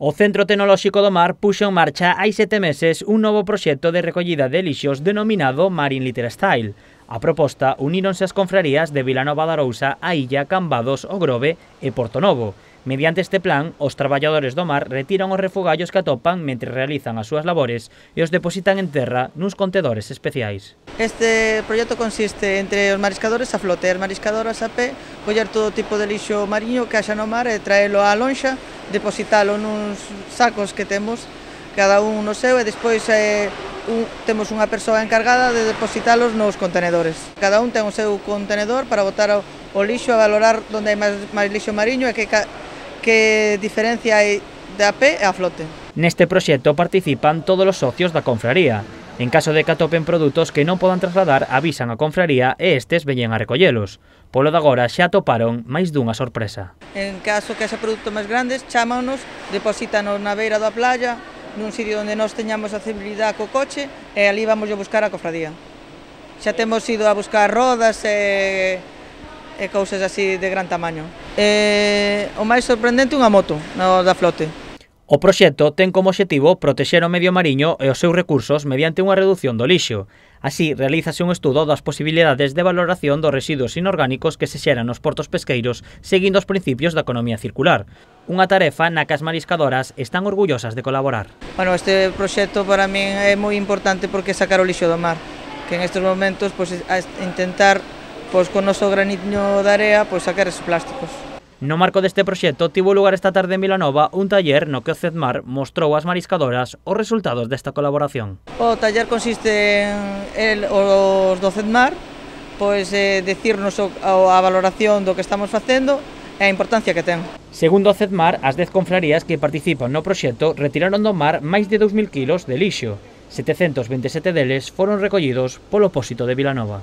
O Centro Tecnolóxico do Mar puxo en marcha hai 7 meses un novo proxecto de recollida de lixos denominado Marine Litter Style. A proposta uníronse as confrarías de Vilanova de Arousa, A Illa, Cambados, O Grove e Portonovo. Mediante este plan, os traballadores do mar retiran os refugallos que atopan mentre realizan as súas labores e os depositan en terra nuns contedores especiais. Este proxecto consiste entre os mariscadores a flote e as mariscadoras a pé, coller todo tipo de lixo mariño que haxa no mar e traelo á lonxa, depositalo nuns sacos que temos, cada un no seu, e despois temos unha persoa encargada de depositalos nos contenedores. Cada un ten o seu contenedor para botar o lixo, a valorar onde hai máis lixo mariño e que diferencia hai de a pé e a flote. Neste proxecto participan todos os socios da confraría. En caso de que atopen produtos que non podan trasladar, avisan a confraría e estes veñen a recollelos. Polo de agora xa atoparon máis dunha sorpresa. En caso que haxa produtos máis grandes, chámanos, deposítanos na beira da playa, nun sitio onde nós teñamos accesibilidade co coche, e ali vamos a buscar a cofradía. Xa temos ido a buscar rodas e cousas así de gran tamaño. O máis sorprendente, unha moto da flote. O proxecto ten como obxectivo protexer o medio mariño e os seus recursos mediante unha reducción do lixo. Así, realízase un estudo das posibilidades de valoración dos residuos inorgánicos que se xeran nos portos pesqueiros seguindo os principios da economía circular. Unha tarefa na que as mariscadoras están orgullosas de colaborar. Bueno, este proxecto para min é moi importante porque sacar o lixo do mar, que en estes momentos intentar con o noso graniño de area sacar esos plásticos. No marco deste proxecto tivo lugar esta tarde en Vilanova un taller no que o CEDMAR mostrou ás mariscadoras os resultados desta colaboración. O taller consiste en os do CEDMAR dicirnos a valoración do que estamos facendo e a importancia que ten. Segundo o CEDMAR, as 10 confrarías que participan no proxecto retiraron do mar máis de 2000 kilos de lixo. 727 deles foron recollidos polo Pósito de Vilanova.